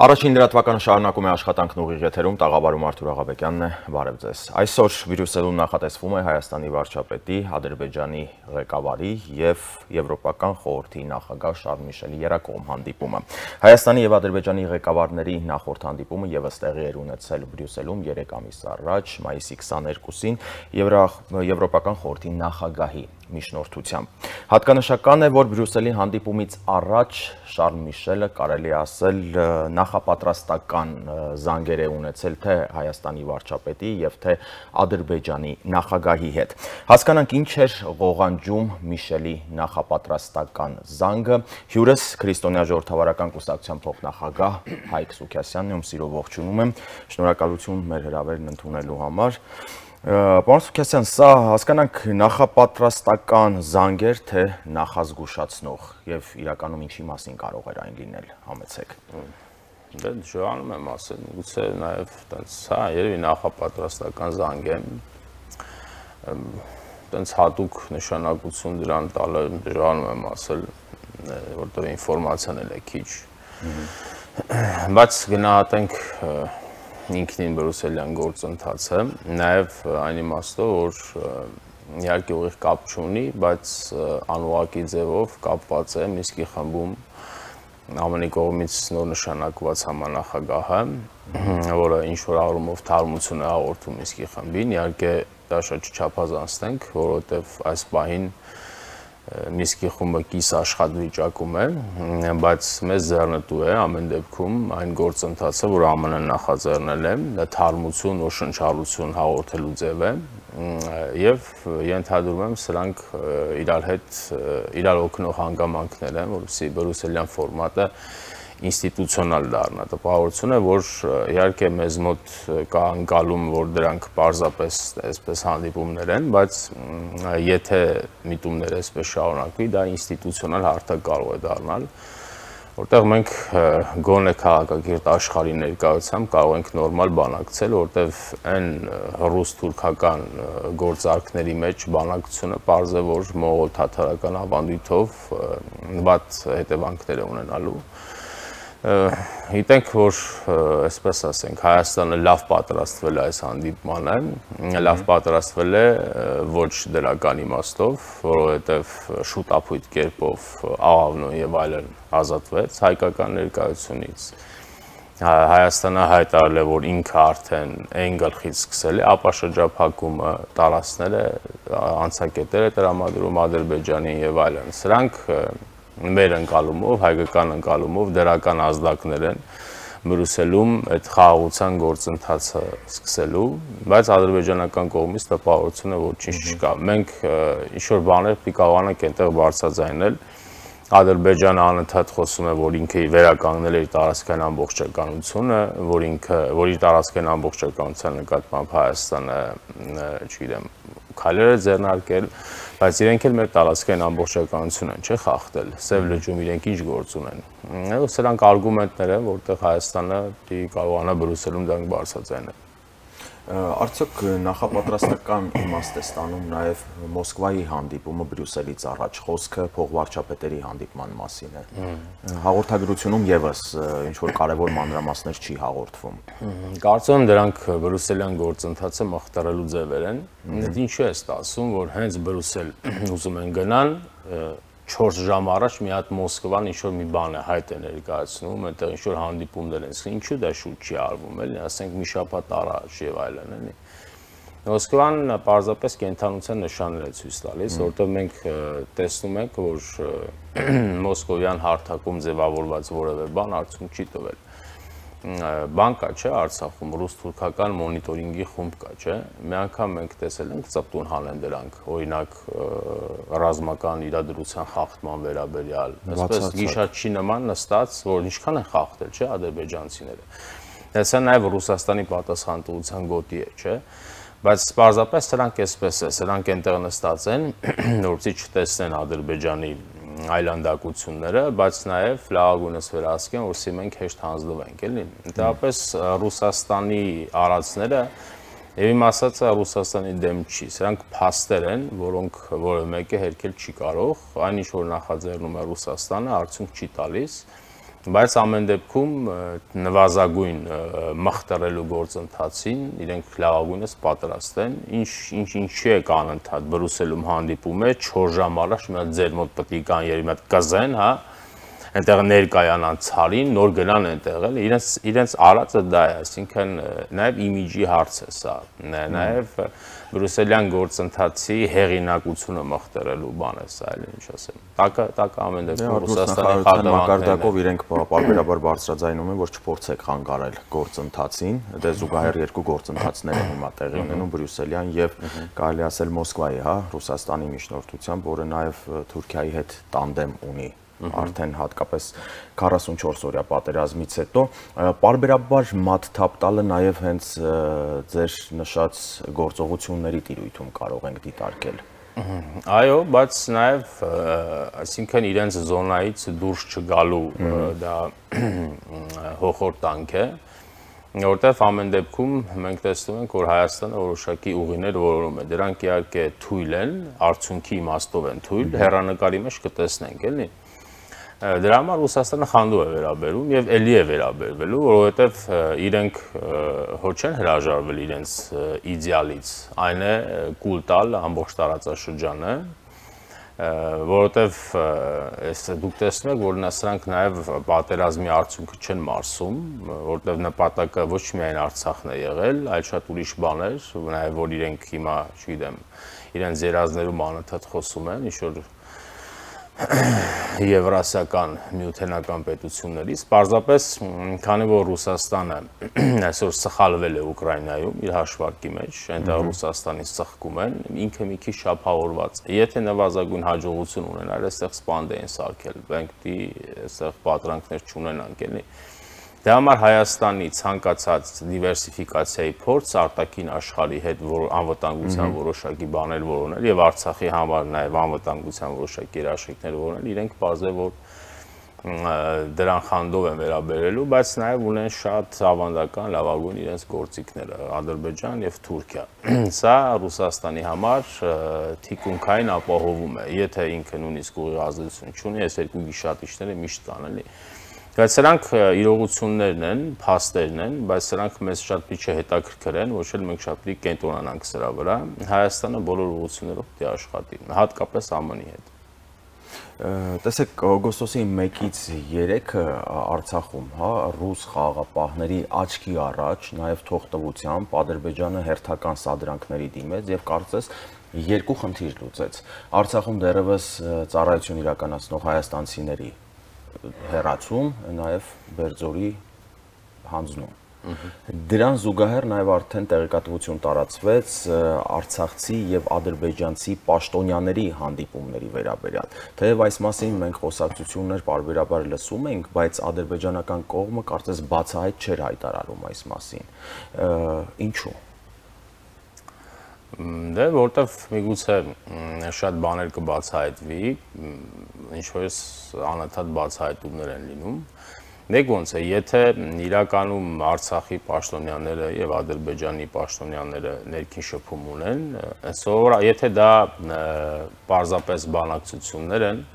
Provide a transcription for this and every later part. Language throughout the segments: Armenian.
Առաջին լրատվականը շարունակում է աշխատանքն ուղիղ եթերում, տաղավարում Արթուր Աղաբեկյանն է, բարև ձեզ։ Այսօր Բրյուսելում նախատեսվում է Հայաստանի վարչապետի, Ադրբեջանի ղեկավարի եւ Եվրոպական խորհրդի նախագահ Շարլ Միշելի երակողմ հանդիպումը։ Հայաստանի եւ Ադրբեջանի ղեկավարների նախորդ հանդիպումը եւս տեղի էր ունեցել Բրյուսելում 3 ամիս առաջ, մայիսի 22-ին Եվրոպական խորհրդի նախագահի միջնորդությամբ։ Հատկանշական է, որ Բրյուսելի հանդիպումից առաջ Շարլ Միշելը կարելի ասել նախապատրաստական զանգեր է ունեցել թե Հայաստանի վարչապետի եւ թե Ադրբեջանի նախագահի հետ։ Հասկանանք ինչ էր ղողանջում Միշելի նախապատրաստական զանգը։ Հյուրս քրիստոնյա ժողովրդավարական կուսակցության փոխնախագահ Հայկ Սուքասյանն է, ում սիրով ողջունում եմ։ Շնորհակալություն մեր հրավերն ընդունելու համար։ Պարոն Սուքասյան, սա հասկանանք նախապատրաստական զանգեր թե նախազգուշացնող եւ իրականում ինչի մասին կարող էր այն լինել, համեցեք։ Դե դժվարանում եմ ասել, գուցե նաեւ տենց հա երևի նախապատրաստական զանգ է։ Տենց հատուկ նշանակություն դրան տալը դժվարանում եմ ասել, որտեղ ինֆորմացիան էլ է քիչ։ Բայց գնահատենք ինքնին Բրյուսելյան գործընթացը, նաև այն իմաստով, որ իհարկե ուղիղ կապ չունի, բայց անուղղակի ձևով կապված է Մինսկի խմբում ԱՄՆ-ի կողմից նոր նշանակված համանախագահը, որը ինչ-որ առումով թարմություն է հաղորդում Մինսկի խմբին, իհարկե դա շատ չչափազանցնենք, որովհետև այս պահին Մինսկի խումբը կիս աշխատվիճակում է, բայց մեզ ձեռնտու է ամեն դեպքում այն գործընթացը, որ ԱՄՆ-ն նախաձեռնել է, դա թարմություն ու շնչառություն հաղորդելու ձև է, եւ ենթադրում եմ սրանք իրար օգնող հանգամանքներ են, որովհետեւ Բրյուսելյան ֆորմատը ինստիտուցիոնալ դառնա, տպավորություն է, որ իհարկե մեզ մոտ կա անկալում, որ դրանք պարզապես այսպես հանդիպումներ են, բայց եթե միտումները այսպես շարունակվի, դա ինստիտուցիոնալ հարթակ կարող է դառնալ, որտեղ մենք գոնե քաղաքակիրթ աշխարհի ներկայությամբ կարող ենք նորմալ բանակցել, որտեղ այն ռուս-թուրքական գործարքների մեջ բանակցությունը պարզ է, որ մողոլ-թաթարական ավանդույթով վատ հետևանքներ է ունենալու։ Գիտենք, որ այսպես ասենք, Հայաստանը լավ պատրաստվել է այս հանդիպմանը, լավ պատրաստվել է ոչ դրական իմաստով, որովհետև շուտապույտ կերպով աղավնոն եւ այլն ազատվեց հայկական ներկայությունից։ Հայաստանը հայտարարել է, որ ինքը արդեն այն գլխից սկսել է ապաշրջափակումը, տարածքներ է, անցակետեր է տրամադրում Ադրբեջանին եւ այլն։ Սրանք մեր ընկալումով, հայկական ընկալումով դրական ազդակներ են Բրյուսելում այդ խաղաղության գործընթացը սկսելու, բայց ադրբեջանական կողմից տպավորություն է, որ ոչինչ չկա։ Մենք ինչ-որ բաներ կարողանանք այնտեղ բարձրաձայնել։ Ադրբեջանը անընդհատ խոսում է, որ ինքը վերականգնել է իր տարածքային ամբողջականությունը, որ իր տարածքային ամբողջականության նկատմամբ Հայաստանը, չգիտեմ, քայլեր է ձեռնարկել, բայց իրենք էլ մեր տարածքային ամբողջականություն են, չէ՞ խախտել, Սև լճում իրենք ինչ գործ ունեն։ Սրանք արգումենտներ են, որտեղ Հայաստանը կարողանա Բրյուսելում դրանք բարձրաձայնել։ Արդյոք նախապատրաստական իմաստ է ստանում նաև Մոսկվայի հանդիպումը Բրյուսելից առաջ, խոսքը փոխվարչապետերի հանդիպման մասին է։ Հաղորդագրությունում եւս ինչ-որ կարևոր մանրամասներ չի հաղորդվում։ Կարծում եմ դրանք Բրյուսելյան գործընթացը մխտարելու ձևեր են։ Ինչու է ստացվում, որ հենց Բրյուսել ուզում են գնան 4 ժամ առաջ մի հատ Մոսկվան ինչ-որ մի բան է հայտ է ներկայացնում, այնտեղ ինչ-որ հանդիպումներ են, ինչու դա շուտ չի արվում, էլի, ասենք մի շաբաթ առաջ եւ այլն, էլի։ Մոսկվան պարզապես կենթանության նշաններ է ցույց տալիս, որտեղ մենք տեսնում ենք, որ մոսկովյան հարթակում ձևավորված որևէ բան արդյունք չի տվել։ Բան կա, չէ, Արցախում ռուս-թուրքական մոնիտորինգի խումբ կա, չէ։ Մի անգամ մենք տեսել ենք ծպտուն հանեն դրանք, օրինակ ռազմական իրադրության խախտման վերաբերյալ, այսպես գիշատչի նման նստած, որ ինչքան են խախտել, չէ, ադրբեջանցիները։ Դա նաև Ռուսաստանի պատասխանատվության գոտի է, չէ։ Բայց պարզապես սրանք այսպես է, սրանք այնտեղ նստած են, որպեսզի չտեսնեն Ադրբեջանի այլանդակությունները, բայց նաև լավագույնս վերահսկեն, որպեսզի մենք հեշտ հանձնվենք, էլի։ Ընդհանրապես Ռուսաստանի արածները եւ իմ ասածը Ռուսաստանի դեմ չի, սրանք փաստեր են, որոնք որը մեկը հերքել չի կարող, այնինչ որ նախաձեռնում է Ռուսաստանը, արդյունք չի տալիս։ Բայց ամեն դեպքում նվազագույն մխտռելու գործընթացին իրենք լավագույնս պատրաստ են, ինչի է կանընդհատ Բրյուսելում հանդիպում է 4 ժամ առաջ մի հատ ձեր մոտ պետք է կան երևի մի հատ կզեն, հա, այնտեղ ներկայանան ցարին, նոր գնան այնտեղ էլ իրենց արածը դա է, այսինքն նաև իմիջի հարց է սա, նաև բրյուսելյան գործընթացի հեղինակությունը մխտռելու բան է սա, էլ ինչ ասեմ։ Տակը ամեն դեպքում Ռուսաստանի մակարդակով իրենք պարբերաբար բարձրաձայնում են, որ չփորձեք խանգարել գործընթացին, դե զուգահեռ երկու գործընթացներ են հիմա տեղի ունենում բրյուսելյան եւ կարելի ասել Մոսկվայի, հա, Ռուսաստանի միջնորդությամբ, որը նաև Թուրքիայի հետ տանդեմ ունի արդեն հատկապես 44 օրյա պատերազմից հետո պարբերաբար մաթթափ տալը նաև հենց ձեր նշած գործողությունների տիրույթում կարող ենք դիտարկել։ Այո, բայց նաև այսինքն իրենց զոնայից դուրս չգալու դա հոխորտանք է, որտեղ ամեն դեպքում մենք տեսնում ենք, որ Հայաստանը որոշակի ուղիներ որոնում է, դրանք իհարկե թույլ են, արդյունքի իմաստով են թույլ, հեռանկարի մեջ կտեսնենք, էլի։ Դրա համար Ռուսաստանը խանդու է վերաբերում եւ ելի է վերաբերվելու, որովհետեւ իրենք հո չեն հրաժարվել իրենց իդեալից, այն է կուլ տալ ամբողջ տարածաշրջանը, որովհետեւ դուք տեսնում եք, որ սրանք նաեւ պատերազմի արդյունքը չեն մարսում, որովհետեւ նպատակը ոչ միայն Արցախն է եղել, այլ շատ ուրիշ բաներ, նաեւ որ իրենք հիմա, չգիտեմ, իրենց երազներում անընդհատ խոսում են, ինչ որ եվրասիական միութենական պետություններից, պարզապես քանի որ Ռուսաստանը այսօր սխալվել է Ուկրաինայում իր հաշվարկի մեջ, այնտեղ Ռուսաստանից սխկում են, ինքը մի քիչ շափավորված է։ Եթե նվազագույն հաջողություն ունենար, այստեղ սպանդ էին սարքել, մենք պիտի այստեղ պատրանքներ չունենանք, էլի։ Դրա համար Հայաստանի ցանկացած դիվերսիֆիկացիայի փորձ արտաքին աշխարհի հետ անվտանգության որոշակի բաներ որոնել եւ Արցախի համար նաեւ անվտանգության որոշակի երաշխիքներ որոնել, իրենք բարձր որ դրան խանդով են վերաբերելու, բայց նաեւ ունեն շատ ավանդական լավագույն իրենց գործիքները Ադրբեջան եւ Թուրքիա։ Սա Ռուսաստանի համար թիկունքային ապահովում է, եթե ինքը նույնիսկ ուղիղ ազդեցություն չունի, այս երկու գիշատիչները միշտ կան, էլի։ Բայց սրանք իրողություններն են, փաստերն են, բայց սրանք մեզ շատ պիտի չհետաքրքրեն, ոչ էլ մենք շատ պիտի կենտրոնանանք սրա վրա։ Հայաստանը բոլոր ուղղություններով պիտի աշխատի, հատկապես ԱՄՆ-ի հետ։ Տեսեք, օգոստոսի 1-ից 3-ը Արցախում, հա, ռուս խաղաղապահների աչքի առաջ, նաև թողտվությամբ Ադրբեջանը հերթական սադրանքների դիմեց եւ կարծես երկու խնդիր լուծեց։ Արցախում դեռևս ծառայություն իրականացնող հայաստանցիների հեռացում, նաև Բերձորի հանձնում։ Դրան զուգահեռ նաև արդեն տեղեկատվություն տարածվեց արցախցի եւ ադրբեջանցի պաշտոնյաների հանդիպումների վերաբերյալ։ Թեև այս մասին մենք խոսակցություններ պարբերաբար լսում ենք, բայց ադրբեջանական կողմը կարծես բացահայտ չէր հայտարարում այս մասին։ Ինչու՞։ Դե որտեվ միգուցե շատ բաներ կբացահայտվի, ինչ որ անընդհատ բացահայտումներ են լինում։ Մեկ ոնց է, եթե իրականում Արցախի պաշտոնյաները եւ Ադրբեջանի պաշտոնյաները ներքին շփում ունեն, այսօր եթե դա պարզապես բանակցություններ են,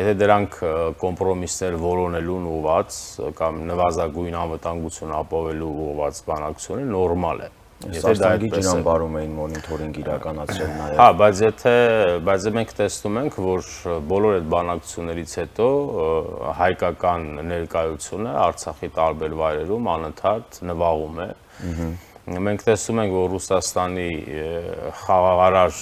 եթե դրանք կոմպրոմիսներ որոնելուն ուղղված կամ նվազագույն անվտանգություն ապահովելու ուղղված բանակցություններ, նորմալ է։ Սաստանգի ջրամբարում էին մոնիթորինգ իրականացրել նաև։ Հա, բայց մենք տեսնում ենք, որ բոլոր այդ բանակցություններից հետո հայկական ներկայությունը Արցախի տարբեր վայրերում անընդհատ նվաղում է։ Մենք տեսնում ենք, որ Ռուսաստանի խաղաղարար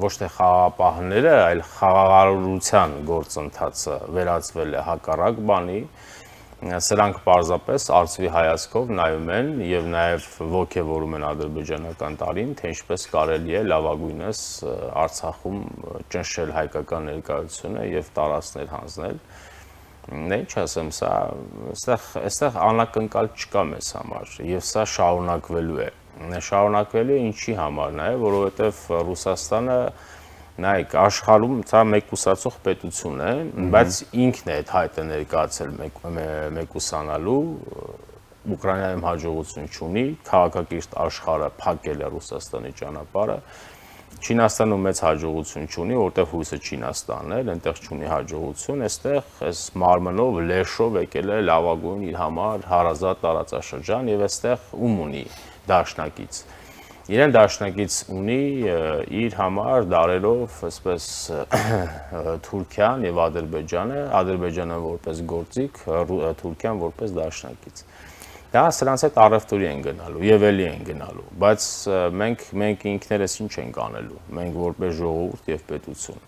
ոչ թե խաղաղապահները, այլ խաղաղարարության գործընթացը վերածվել է հակառակ բանի։ Սրանք պարզապես արծվի հայացքով նայում են եւ նաեւ ոգեվորում են ադրբեջանական տարին, թե ինչպես կարելի է լավագույնս Արցախում ճնշել հայկական ներկայությունը եւ տարածքներ հանձնել։ Ինչ ասեմ, սա այստեղ անակնկալ չկա մեզ համար եւ սա շարունակվելու է։ Շարունակվելու է ինչի համար նաեւ, որովհետեւ Ռուսաստանը նայեք, աշխարհում սա մեկուսացող պետություն է, բայց ինքն է այդ հայտը ներկայացել մեկուսանալու, Ուկրաինայում հաջողություն չունի, քաղաքակիրթ աշխարհը փակել է Ռուսաստանի ճանապարհը, Չինաստանը մեծ հաջողություն չունի, որտեղ հույսը Չինաստանն է, այնտեղ չունի հաջողություն, այստեղ այս մարմնով, լեշով եկել է լավագույն իր համար հարազատ տարածաշրջան եւ այստեղ ում ունի դաշնակից։ Իրեն դաշնակից ունի իր համար դարերով, այսպես Թուրքիան եւ Ադրբեջանը որպես գործիք, Թուրքիան որպես դաշնակից։ Դա սրանց հետ առևտուրի են գնալու եւ էլի են գնալու, բայց մենք ինքներս ինչ ենք անելու, մենք որպես ժողովուրդ եւ պետություն։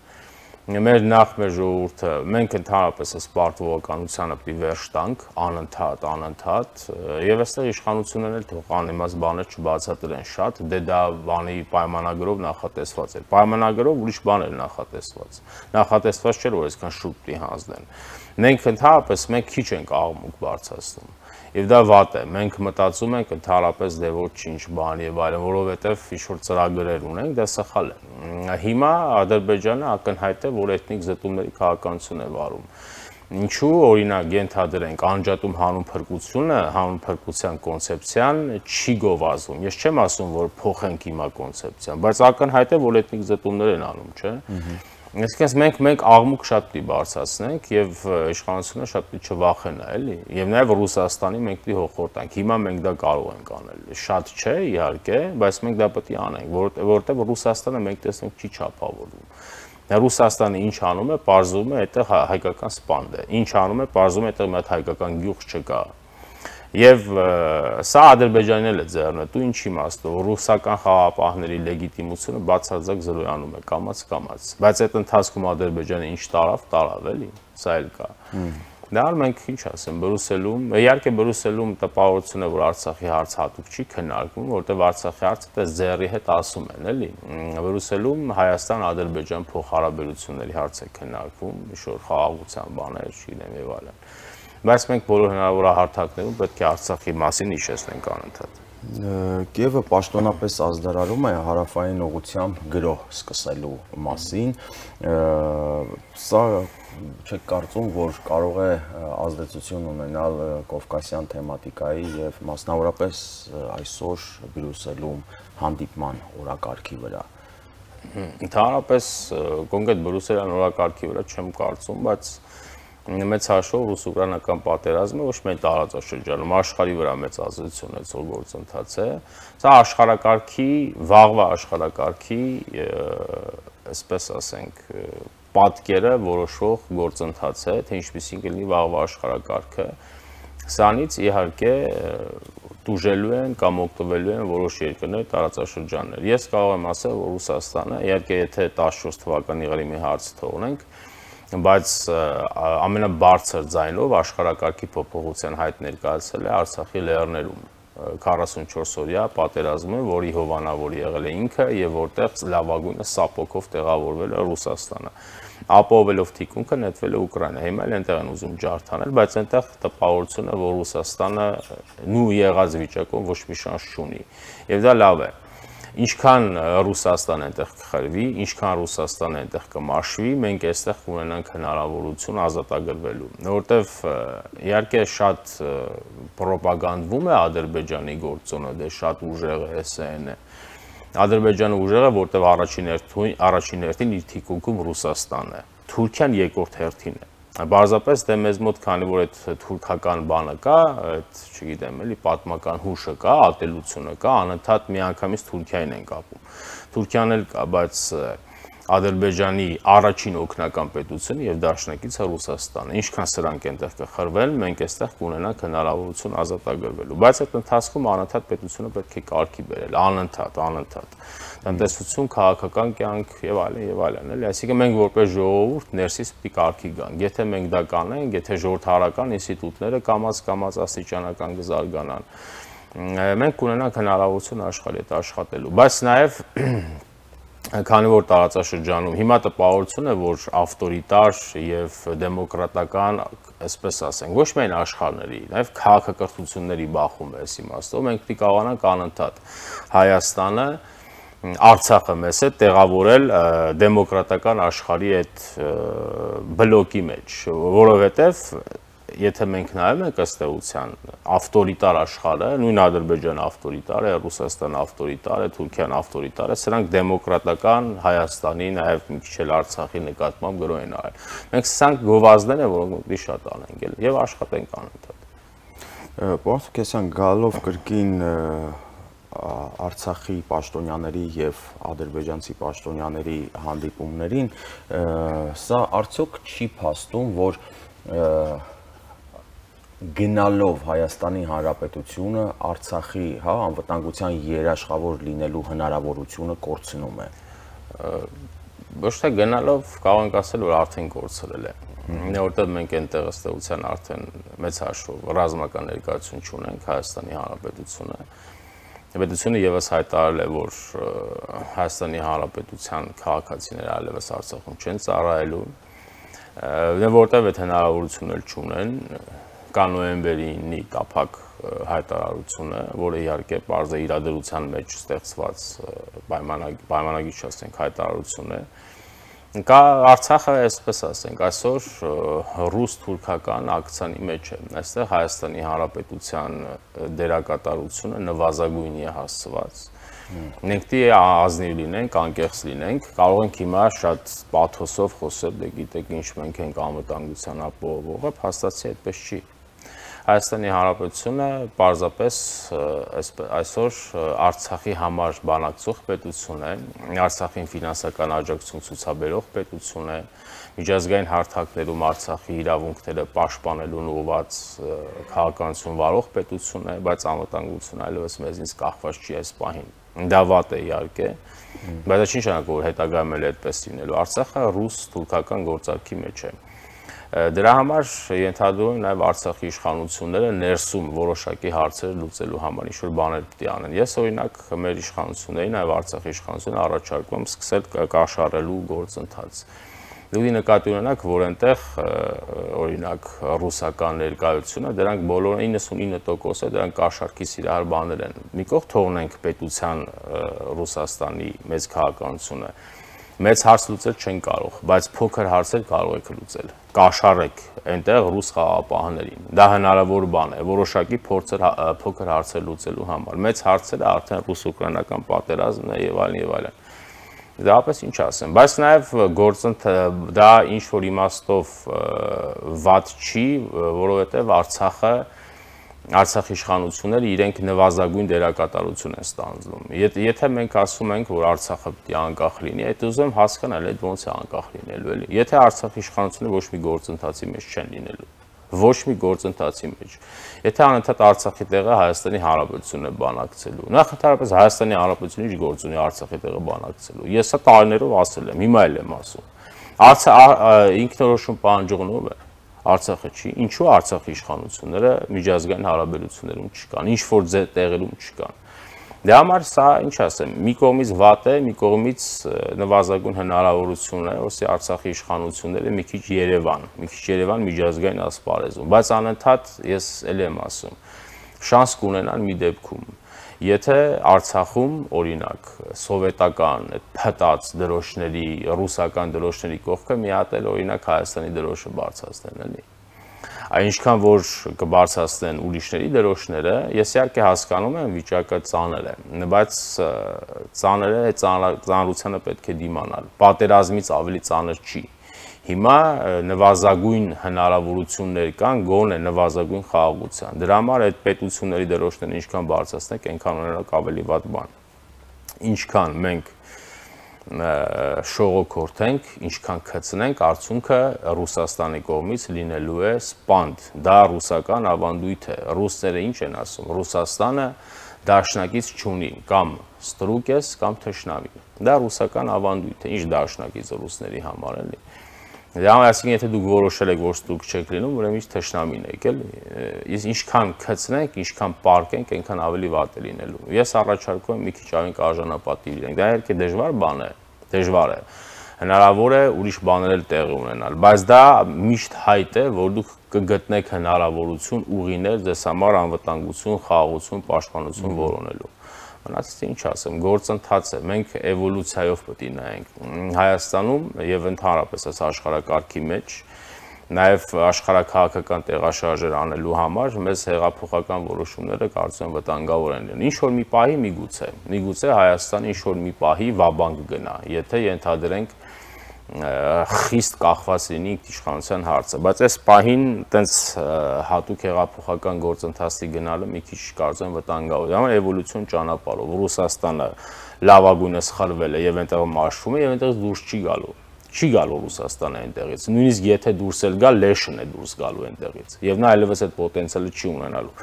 Մեր ժողովուրդը, մենք ընդհանրապես այս պարտվողականությանը պիտի վերջ տանք, անընդհատ, եւ այստեղ իշխանություններն էլ թող անիմաստ բաներ չբացատրեն շատ, դե դա բանի պայմանագրով նախատեսված է։ Պայմանագրով ուրիշ բան էր նախատեսված։ Նախատեսված չէր, որ այսքան շուտ պիտի հանձնեն։ Մենք ընդհանրապես քիչ ենք աղմուկ բարձրացնում։ Եվ դա վատ է, մենք մտածում ենք ընդհանրապես դե ոչինչ բան եւ այլն, որովհետեւ ինչ-որ ծրագրեր ունենք, դա սխալ է։ Հիմա Ադրբեջանը ակնհայտ է, որ էթնիկ զտումների քաղաքականություն է վարում։ Ինչու օրինակ ենթադրենք անջատում հանուն փրկությունը, հանուն փրկության կոնցեպցիան չի գովազդում։ Ես չեմ ասում, որ փոխենք հիմա կոնցեպցիան, բայց ակնհայտ է, որ էթնիկ զտումներ են անում, չէ՞։ Այսինքն մենք աղմուկ շատ պիտի բարձրացնենք եւ իշխանությունը շատ պիտի չվախենա, էլի։ Եվ նաեւ Ռուսաստանի մենք պիտի հոխորտանք։ Հիմա մենք դա կարող ենք անել։ Շատ չէ, իհարկե, բայց մենք դա պիտի անենք, որովհետեւ Ռուսաստանը մենք տեսնենք չի չափավորվում։ Ռուսաստանը ինչ անում է, պարզվում է, այդտեղ հայկական սպանդ է։ Ինչ անում է, պարզվում է, այդտեղ մի հատ հայկական գյուղ չկա։ Եվ սա Ադրբեջանին էլ է ձեռնտու, ինչ իմաստով, ռուսական խաղապահների լեգիտիմությունը բացարձակ զրոյանում է, կամաց, բայց այդ ընթացքում Ադրբեջանը ինչ տարավ, էլի, սա էլ կա։ Դա մենք ինչ ասեմ, Բրյուսելում, իհարկե Բրյուսելում տպավորություն է, որ Արցախի հարց հատուկ չի քննարկվում, որտեղ Արցախի հարցը դա ձեռի հետ ասում են, էլի։ Բրյուսելում Հայաստան-Ադրբեջան փոխհարաբերությունների հարց է քննարկվում, ինչ-որ խաղաղության բաներ, չգիտեմ եւ այլն։ Բայց մենք բոլոր հնարավոր հարթակներում պետք է Արցախի մասին հիշեցնենք անընդհատ։ Կիևը պաշտոնապես ազդարարում է հարավային ուղղությամբ գրոհ սկսելու մասին։ Սա չեք կարծում, որ կարող է ազդեցություն ունենալ կովկասյան թեմատիկայի եւ մասնավորապես այսօր Բրյուսելում հանդիպման օրակարգի վրա։ Ընդհանրապես կոնկրետ Բրյուսելյան օրակարգի վրա չեմ կարծում, բայց մեծ հաշվով ռուս-ուկրաինական պատերազմը ոչ միայն տարածաշրջանում, աշխարհի վրա մեծ ազդեցություն ունեցող գործընթաց է։ Սա աշխարհակարգի, վաղվա աշխարհակարգի, այսպես ասենք, պատկերը որոշող գործընթաց է, թե ինչպիսին կլինի վաղվա աշխարհակարգը։ Սրանից իհարկե տուժելու են կամ օգտվելու են որոշ երկրներ, տարածաշրջաններ։ Ես կարող եմ ասել, որ Ռուսաստանը, իհարկե եթե 14 թվականի Ղրիմի հարցը թողնենք, բայց ամենաբարձր ձայնով աշխարհակարգի փոփոխության հայտ ներկայացել է Արցախի լեռներում 44-օրյա պատերազմը, որի հովանավորը եղել է ինքը եւ որտեղ լավագույնը սապոկով տեղավորվել է Ռուսաստանը։ Ապահովելով թիկունքը նետվել է Ուկրաինա։ Հիմա էլ այնտեղ են ուզում ջարդանել, բայց այնտեղ տպավորությունը, որ Ռուսաստանը նույն եղած վիճակում ոչ մի շանս չունի։ Եվ դա լավ է։ Ինչքան Ռուսաստան այնտեղ կխրվի, ինչքան Ռուսաստանը այնտեղ կմաշվի, մենք այստեղ կունենանք հնարավորություն ազատագրվելու։ Որովհետև իհարկե շատ ռոպագանդվում է Ադրբեջանի գործոնը, դե շատ ուժեղ է ՍՆ-ը։ Ադրբեջանը ուժեղ է, որտեղ առաջին հերթին իր թիկունքում Ռուսաստանն է։ Թուրքիան երկրորդ հերթին է։ Բարձրապես դե մեզ մոտ քանի որ այդ թուրքական բանը կա, այդ չգիտեմ էլի պատմական հուշը կա, ատելությունը կա, անընդհատ միանգամից Թուրքիային են կապում։ Թուրքիան էլ կա, բայց Ադրբեջանի առաջին օգնական պետությունը եւ դաշնակիցը Ռուսաստանը։ Ինչքան սրանք այնտեղ կխրվեն, մենք այստեղ կունենանք հնարավորություն ազատագրվելու։ Բայց այդ ընթացքում անընդհատ պետությունը պետք է կարգի բերել, անընդհատ։ Տնտեսություն, քաղաքական կյանք եւ այլն, էլի, այսինքն մենք որպես ժողովուրդ ներսից պիտի կարգի գանք։ Եթե մենք դա կանենք, եթե ժողովրդարական ինստիտուտները կամաց աստիճանական կզարգանան, մենք կունենանք հնարավորություն աշխարհի հետ աշխատելու։ Բայց նաեւ քանի որ տարածաշրջանում հիմա տպավորություն է, որ ավտորիտար եւ դեմոկրատական, այսպես ասենք, ոչ միայն աշխարհների, նաեւ քաղաքակրթությունների բախում է այս իմաստով, մենք պիտի կարողանանք անընդհատ Հայաստանը, Արցախը մեզ հետ տեղավորել դեմոկրատական աշխարհի այդ բլոկի մեջ, որովհետեւ եթե մենք նայում ենք ըստ էության ավտորիտար աշխարհը, նույն Ադրբեջանը ավտորիտար է, Ռուսաստանը ավտորիտար է, Թուրքիան ավտորիտար է, սրանք դեմոկրատական Հայաստանի, նաև մի քիչ էլ Արցախի նկատմամբ գրոհ են արել։ Մենք սրանք գովազդներ են, որոնք պետք է շատ անենք եւ աշխատենք անընդհատ։ Պարոն Սարգսյան, գալով կրկին Արցախի պաշտոնյաների եւ ադրբեջանցի պաշտոնյաների հանդիպումներին, սա արդյոք չի փաստում, որ գնալով Հայաստանի Հանրապետությունը Արցախի, անվտանգության երաշխավոր լինելու հնարավորությունը կորցնում է։ Ոչ թե գնալով կարող ենք ասել, որ արդեն կորցրել է։ Որտեղ մենք այնտեղ ըստ էության արդեն մեծ հաշվով ռազմական ներկայություն չունենք Հայաստանի Հանրապետությունը։ Պետությունը եւս հայտարարել է, որ Հայաստանի Հանրապետության քաղաքացիները այլևս Արցախում չեն ծառայելու, որտեղ այդ հնարավորությունը չունեն, կա նոյեմբերի 9-ի տափակ հայտարարությունը, որը իհարկե պարզ է իրադրության մեջ ստեղծված պայմանագիր չասենք հայտարարություն է։ Կա Արցախը, այսպես ասենք, այսօր ռուս-թուրքական ակցիայի մեջ է։ Այստեղ Հայաստանի Հանրապետության դերակատարությունը նվազագույնի է հասցված։ Մենք դի ազնիվ լինենք, անկեղծ լինենք, կարող ենք հիմա շատ պաթոսով խոսել, դե գիտեք ինչ մենք ենք անվտանգության ապահովողը, փաստացի այդպես չի։ Հայաստանի Հանրապետությունը պարզապես այսօր Արցախի համար բանակցող պետություն է, Արցախին ֆինանսական աջակցություն ցուցաբերող պետություն է, միջազգային հարթակներում Արցախի իրավունքները պաշտպանելուն ուղղված քաղաքականություն վարող պետություն է, բայց անվտանգությունը այլևս մեզնից կախված չի այս պահին։ Դա վատ է իհարկե, բայց դա չի նշանակում, որ հետագայում էլ այդպես լինելու։ Արցախը ռուս-թուրքական գործարքի մեջ է։ Դրա համար ենթադրում եմ նաև Արցախի իշխանությունները ներսում որոշակի հարցեր լուծելու համար ինչ-որ բաներ պետք է անեն։ Ես օրինակ մեր իշխանություններին, նաև Արցախի իշխանություններին առաջարկում եմ սկսել կաշառելու գործընթաց։ Դուք նկատի ունենաք, որ այնտեղ օրինակ ռուսական ներկայությունը, դրանք բոլորը 99%-ը դրանք կաշառքի սիրահար բաներ են։ Մի կողմ թողնենք պետության Ռուսաստանի մեծ քաղաքականությունը։ Մեծ հարց լուծել չեն կարող, բայց փոքր հարցեր կարող եք լուծել։ Կաշառեք այնտեղ ռուս խաղաղապահներին։ Դա հնարավոր բան է, որոշակի փոքր հարցեր լուծելու համար։ Մեծ հարցերը արդեն ռուս-ուկրաինական պատերազմն է եւ այլն եւ այլն։ Դրապես ինչ ասեմ, բայց նաև դա ինչ որ իմաստով վատ չի, որովհետև Արցախի իշխանությունները իրենք նվազագույն դերակատարություն են ստանձնում։ Եթե մենք ասում ենք, որ Արցախը պետք է անկախ լինի, այդ ուզում հասկանալ այդ ոնց է անկախ լինելու էլի։ Եթե Արցախի իշխանությունները ոչ մի գործընթացի մեջ չեն լինելու, ոչ մի գործընթացի մեջ։ Եթե անընդհատ Արցախի տեղը Հայաստանի Հանրապետությունն է բանակցելու, նախ ընդհանրապես Հայաստանի Հանրապետությունը ինչ գործ ունի Արցախի տեղը բանակցելու։ Ես սա տարիներով ասել եմ, հիմա էլ եմ ասում։ Ինքնորոշում պահանջողն է Արցախը չի, ինչու Արցախի իշխանությունները միջազգային հարաբերություններում չկան, ինչ որ տեղերում չկան։ Դրա համար սա, ինչ ասեմ, մի կողմից վատ է, մի կողմից նվազագույն հնարավորություն է, որսի Արցախի իշխանությունները մի քիչ Երևան միջազգային ասպարեզում, բայց անընդհատ ես էլ եմ ասում, շանս կունենան մի դեպքում, եթե Արցախում օրինակ սովետական փտած դրոշների, ռուսական դրոշների կողքը մի հատ էլ օրինակ Հայաստանի դրոշը բարձրացնեն, էլի։ Այնքան որ կբարձրացնեն ուրիշների դրոշները, ես իհարկե հասկանում եմ վիճակը ծանր է, բայց ծանրությանը պետք է դիմանալ։ Պատերազմից ավելի ծանր չի։ Հիմա նվազագույն հնարավորություններ կան գոնե նվազագույն խաղաղության։ Դրա համար այդ պետությունների դրոշներն ինչքան բարձրացնենք, այնքան ունենալու ավելի վատ բան։ Ինչքան մենք շողոքորթենք, ինչքան քծնենք, արդյունքը Ռուսաստանի կողմից լինելու է սպանդ։ Դա ռուսական ավանդույթ է։ Ռուսները ինչ են ասում։ Ռուսաստանը դաշնակից չունի, կամ ստրուկ ես, կամ թշնամի։ Դա ռուսական ավանդույթ է, ինչ դաշնակից ռուսների համար էլի։ Դա այսինքն եթե դուք որոշել եք, որ ստրուկ չեք լինում, ուրեմն ինչ թշնամին եք, էլի։ Ինչքան քծնենք, ինչքան պարկենք, այնքան ավելի վատ է լինելու։ Ես առաջարկում եմ մի քիչ ավելի արժանապատիվ լինենք։ Դա իհարկե դժվար բան է, դժվար է։ Հնարավոր է ուրիշ բաներ էլ տեղի ունենալ, բայց դա միշտ հայտ է, որ դուք կգտնեք հնարավորություն ուղիներ ձեզ համար անվտանգություն, խաղաղություն, պաշտպանություն որոնելու։ Մնացած ինչ ասեմ, գործընթաց է, մենք էվոլյուցիայով պետք է նայենք։ Հայաստանում եւ ընդհանրապես այս աշխարհակարգի մեջ նաև աշխարհաքաղաքական տեղաշարժեր անելու համար մեզ հեղափոխական որոշումները կարծում եմ վտանգավոր են լինում։ Ինչ որ մի պահի միգուցե Հայաստանը ինչ որ մի պահի վաբանկ գնա, եթե ենթադրենք խիստ կախված լինի իշխանության հարցը, բայց այս պահին տենց հատուկ հեղափոխական գործընթացի գնալը մի քիչ կարծում եմ վտանգավոր է։ Համար էվոլյուցիոն ճանապարհով Ռուսաստանը լավագույնս խլվել է եւ այնտեղ մաշվում է եւ այնտեղից դուրս չի գալու Ռուսաստանը այնտեղից։ Նույնիսկ եթե դուրս էլ գա, լեշն է դուրս գալու այնտեղից եւ նա այլևս այդ պոտենցիալը չի ունենալու։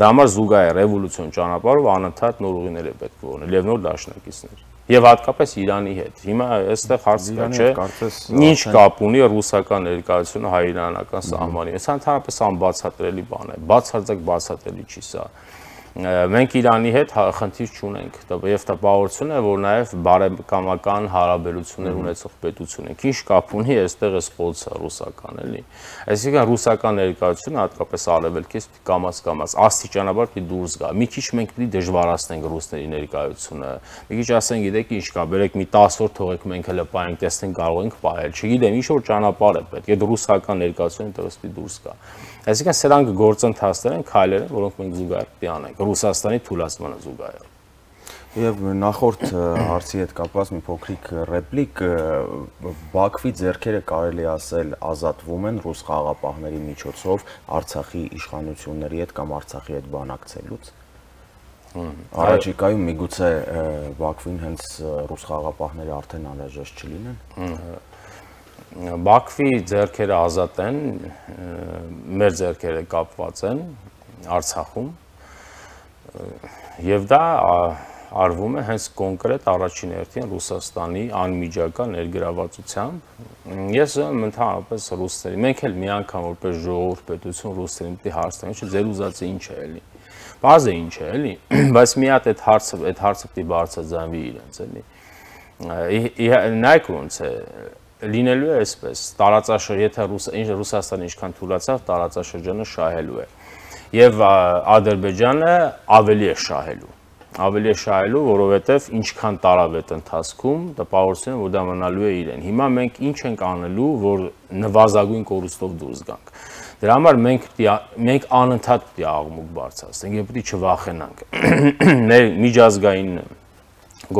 Դա համար զուգահեռ էվոլյուցիոն ճանապարհով անընդհատ նոր ուղիներ է պետք որոնել եւ նոր դաշնակիցներ։ Եվ հատկապես Իրանի հետ։ Հիմա այստեղ հարցը կա, չէ՞, ինչ կապ ունի ռուսական ներկայությունը հայ-իրանական սահմանի։ Սա ընդհանրապես անբացատրելի բան է։ Բացարձակ բացատրելի չի սա։ Մենք Իրանի հետ խնդիր չունենք եւ տպավորություն է, որ նաեւ բարեկամական հարաբերություններ ունեցող պետություն ենք։ Ինչ կապ ունի այստեղ էս խոցը ռուսական էլի։ Այսինքն ռուսական ներկայությունը հատկապես արևելքից կամաց աստիճանաբար պիտի դուրս գա։ Մի քիչ մենք պիտի դժվարացնենք ռուսների ներկայությունը։ Մի քիչ ասենք, գիտեք ինչ կա, բերեք մի 10 օր թողեք մենք հələ պայենք, տեսնենք կարող ենք պահել։ Չգիտեմ, ինչ որ ճանապարհ է պետք։ Այդ ռուսական ներկայությունը դեռ պիտի դուրս գա։ Այսինքն սրանք գործընթացներ են, քայլեր են, որոնք մենք զուգահեռ պիտի անենք Ռուսաստանի թուլացմանը զուգահեռ։ Եվ նախորդ հարցի հետ կապված մի փոքրիկ ռեպլիկ, Բաքվի ձեռքերը կարելի ասել ազատվում են ռուս խաղաղապահների միջոցով Արցախի իշխանությունների հետ կամ Արցախի հետ բանակցելուց։ Առաջիկայում միգուցե Բաքվին հենց ռուս խաղաղապահները արդեն անհրաժեշտ չլինեն։ Բաքվի ձեռքերը ազատ են, մեր ձեռքերը կապված են Արցախում եւ դա արվում է հենց կոնկրետ առաջին հերթին Ռուսաստանի անմիջական ներգրավվածությամբ։ Ես ընդհանրապես ռուսների, մենք էլ մի անգամ որպես ժողովուրդ պետություն ռուսերին պիտի հարցնենք, չէ՞ ձեր ուզածը ինչ է էլի։ Բազը ինչ է էլի, բայց մի հատ այդ հարցը պիտի բարձրաձայնվի իրենց էլի։ Նայեք ոնց է լինելու է այսպես, եթե Ռուսաստանը ինչքան թուլացավ, տարածաշրջանը շահելու է։ Եվ Ադրբեջանը ավելի է շահելու, որովհետև ինչքան տարավ այդ ընթացքում, տպավորություն է, որ դա մնալու է իրեն։ Հիմա մենք ինչ ենք անելու, որ նվազագույն կորուստով դուրս գանք։ Դրա համար մենք անընդհատ պիտի աղմուկ բարձրացնենք եւ պիտի չվախենանք։ Մեր միջազգային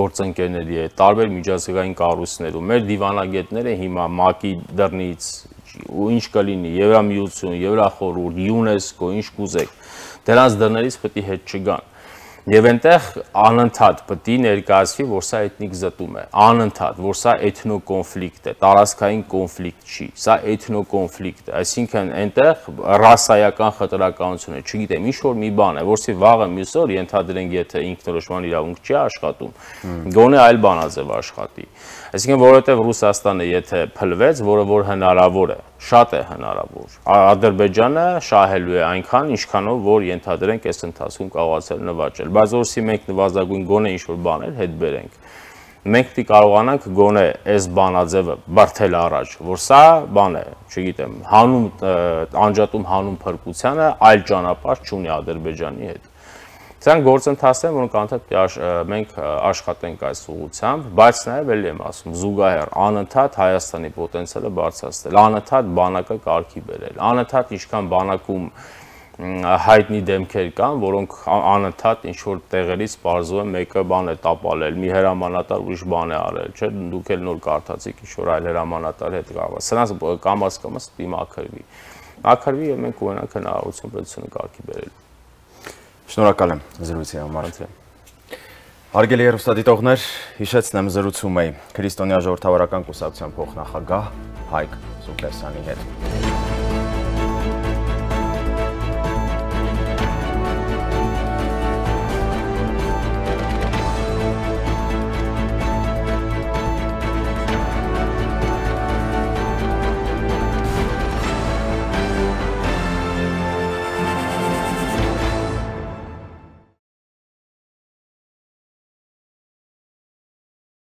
գործընկերների հետ, տարբեր միջազգային կառույցներում, մեր դիվանագետները հիմա ՄԱԿ-ի դռնից ու ինչ կլինի, Եվրամիություն, Եվրախորհուրդ, ՅՈՒՆԵՍԿՕ, ինչ կուզեք, դրանց դռներից պետք է հետ չգան։ Եվ այնտեղ անընդհատ պետք է ներկայացվի, որ սա էթնիկ զտում է, անընդհատ, որ սա էթնոկոնֆլիկտ է, տարածքային կոնֆլիկտ չի, սա էթնոկոնֆլիկտ է, այսինքն այնտեղ ռասայական խտրականություն է, չգիտեմ, ինչ որ մի բան է, որի վաղը մյուս օր ենթադրենք, եթե ինքնորոշման իրավունք չի աշխատում, գոնե այլ բանաձև աշխատի։ Այսինքն, որովհետև Ռուսաստանը եթե փլվեց, որը որ հնարավոր է, շատ է հնարավոր, Ադրբեջանը շահելու է այնքան, ինչքանով որ ենթադրենք այս ընթացքում կարողացել նվաճել, բայց որսի մենք նվազագույն գոնե ինչ-որ բաներ հետ բերենք, մենք պիտի կարողանանք գոնե այս բանաձևը բրդել առաջ, որ սա բան է, չգիտեմ, անջատում հանուն փրկությանը այլ ճանապարհ չունի Ադրբեջանի հետ։ Սրանք գործընթացներ, որոնք անընդհատ մենք աշխատենք այս ուղղությամբ, բայց նաև էլի եմ ասում, զուգահեռ անընդհատ Հայաստանի պոտենցիալը բարձրացնել, անընդհատ բանակը կարգի բերել, անընդհատ ինչքան բանակում հայտնի դեմքեր կան, որոնք անընդհատ ինչ-որ տեղերից պարզվում է մեկը բան է տապալել, մի հրամանատար ուրիշ բան է արել, չէ՞, դուք էլ նոր կարդացիք ինչ-որ այլ հրամանատար հետ կարող է։ Սրանց կամաց պիտի մաքրվի եւ մենք ունենանք հնարավորություն պետությունը կարգի բերելու։ Շնորհակալ եմ զրույցի համար։ Հարգելի հեռուստադիտողներ, հիշեցնեմ զրուցում էի Քրիստոնյա ժողովրդավարական կուսակցության փոխնախագահ Հայկ Սուքլեսյանի հետ։